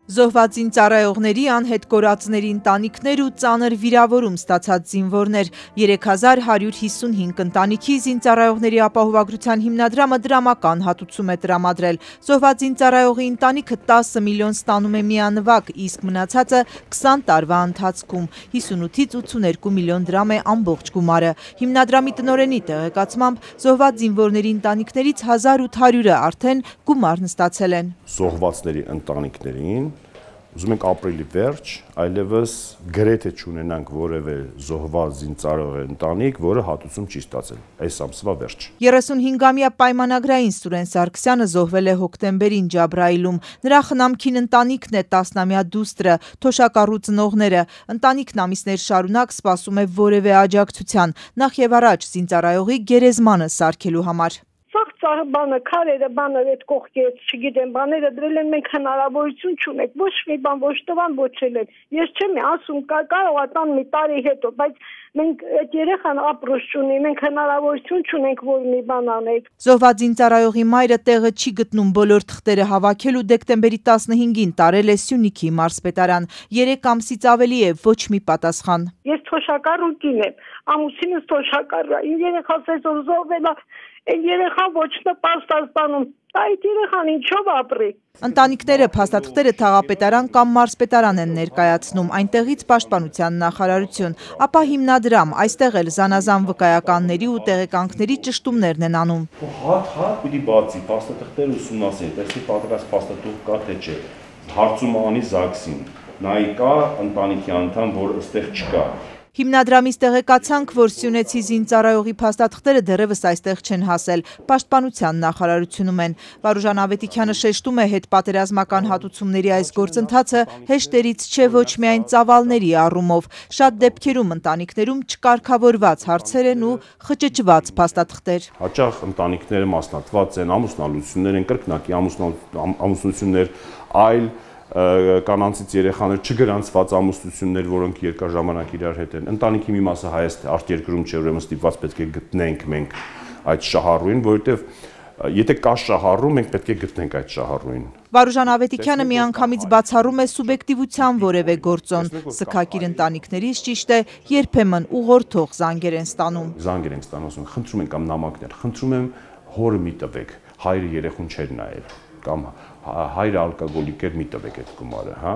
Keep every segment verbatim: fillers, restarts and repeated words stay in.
Զոհված զինծառայողների, անհետ կորածների ընտանիքներ ու ծանր վիրավորում ստացած զինվորներ։ երեք հազար հարյուր հիսունհինգ ընտանիքի զինծառայողների ապահովագրության հիմնադրամը դրամական հատուցում է տրամադրել։ Զոհված զինծառայողի ընտանիքը տասը միլիոն ստանում է միանվագ, իսկ մնացածը քսան տարվա ընթացքում։ հիսունութից ութսուներկու միլիոն դրամ է ամբողջ գումարը։ Հիմնադրամի տնօրենի տեղեկացմամբ զոհված զինվորների ընտանիքներից հազար ութ հարյուրը արդեն գումարն ստացել են։ Զոհվածների ընտանիքներին ուզում ենք ապրիլի վերջ, այլևս գրեթե չունենանք որևէ զոհված զինծառայողի ընտանիք, որը հատուցում չի ստացել այս ամսվա վերջ։ երեսունհինգամյա պայմանագրային Սուրեն Սարգսյանը զոհվել է հոկտեմբերին Ջաբրայիլում։ Նրա խնամքին ընտանիքն է տասնամյա դուստրը, թոշակառու ծնողները։ Ընտանիքն ամիսներ շարունակ սպասում է որևէ աջակցության, նախ եւ առաջ զինծառայողի գերեզմանը սարքելու համար։ Բանը, քարերը, բանը, այդ կողքից, չգիտեմ, բաները դրել են, մենք հնարավորություն չունենք, ոչ մի բան, ոչ տվան ոչել են։ Ես չեմ ասում, կարող է տան մի տարի հետո, բայց մենք այդ երեխան ապրուց չունի, մենք հնարավորություն չունենք, որ մի բան անենք։ Զոհված զինծառայողի մայրը տեղը չի գտնում բոլոր թղթերը հավաքելու, դեկտեմբերի տասնհինգին տարել է Սյունիքի մարզպետարան։ երեք ամսից ավելի է ոչ մի պատասխան։ Ես թոշակառու կին եմ, ամուսինս թոշակառ է, իմ երեխաս այսօր զոհվել է, այն երեխան ոչ նպաստ է ստանում, այդ երեխան ինչով ապրի։ Ընտանիքները փաստաթղթերը թաղապետարան կամ մարզպետարան են ներկայացնում, այնտեղից պաշտպանության նախարարություն, ապա հիմնադրամ, այստեղ էլ զանազան վկայականների ու տեղեկանքների ճշտումներն են անում։ Հատ-հատ պիտի բացի, փաստաթղթերը ուսումնասիրել, տեսնի պատրաստ փաստաթուղթ կա թե չէ, հարցում անի ԶԱԳՍ-ին, նայի կա ընտանիքի անդամ, որ այստեղ չկա։ Հիմնադրամից տեղեկացանք, որ սյունեցի զինծառայողի փաստաթղթերը դեռևս այստեղ չեն հասել, պաշտպանության նախարարությունում են։ Վարուժան Ավետիքյանը շեշտում է, հետպատերազմական հատուցումների այս գործընթացը հեշտերից չէ ոչ միայն ծավալների առումով։ Շատ դեպքերում ընտանիքներում չկարգավորված հարցեր են ու խճճված փաստաթղթեր։ Հաճախ ընտանիքները մասնատված են, ամուսնալություններ են, կրկնակի ամուսնություններ, այլ կանանցից երեխաներ, չգրանցված ամուսնություններ, որոնք երկար ժամանակ իրար հետ են։ Ընտանիքի մի մասը հայաց արտերկրում չէ, ուրեմն ստիպված պետք է գտնենք մենք այդ շահառուին, որովհետև եթե կա շահառու, մենք պետք է գտնենք այդ շահառուին։ Վարուժան Ավետիքյանը միանգամից բացառում է սուբյեկտիվության որևէ գործոն։ Սգակիր ընտանիքներից ճիշտ է, երբեմն ուղղորդող զանգեր են ստանում։ Զանգեր են ստանում, ասում են, խնդրում են կամ նամակներ, խնդրում եմ հորը մի տվեք, հայրը երեխուն չէր նայել, կամ հայրը ալկոգոլիկ էր, մի տվեք այդ գումարը, հա։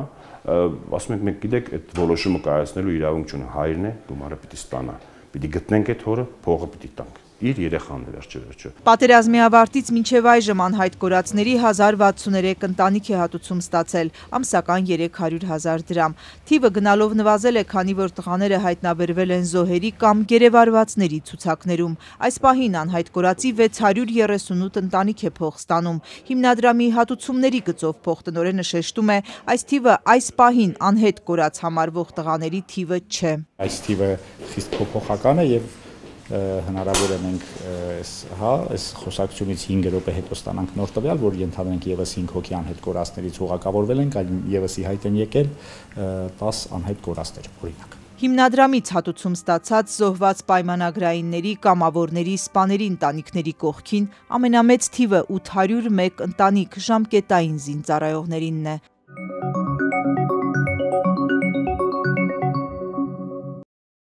Ասում ենք, մենք գիտեք, այդ որոշումը կայացնելու իրավունք չունենք, հայրն է, գումարը պիտի ստանա, պիտի գտնենք այդ հորը, փողը պիտի տանք։ Իր երեխան է վերջը։ Պատերազմի ավարտից մինչև այժմ անհայտ կորածների հազար վաթսուներեք ընտանիք է հատուցում ստացել, ամսական երեք հարյուր հազար դրամ։ Թիվը գնալով նվազել է, քանի որ տղաները հայտնաբերվել են զոհերի կամ գերեվարվածների ցուցակներում։ Այս պահին անհայտ կորածի վեց հարյուր երեսունութ ընտանիք է փող ստանում։ Հիմնադրամի հատուցումների գծով փոխտնօրենը շեշտում է, այս թիվը այս պահին անհետ կորած համարվող տղաների թիվը չէ։ Այս թիվը խիստ փոփոխական է եւ հնարավոր է մենք հա այս խոսակցությունից հինգ րոպե հետո ստանանք նոր տվյալ, որ ենթադրենք եւս հինգ հոգի անհետ կորածներից ուղղակավորվել են, այլ եւս ի հայտ են եկել տաս անհետ կորածներ, օրինակ։ Հիմնադրամից հատուցում ստացած զոհված պայմանագրայինների, կամավորների, սպաների ընտանիքների կողքին ամենամեծ թիվը ութ հարյուր մեկ ընտանիք ժամկետային զինծառայողներինն է։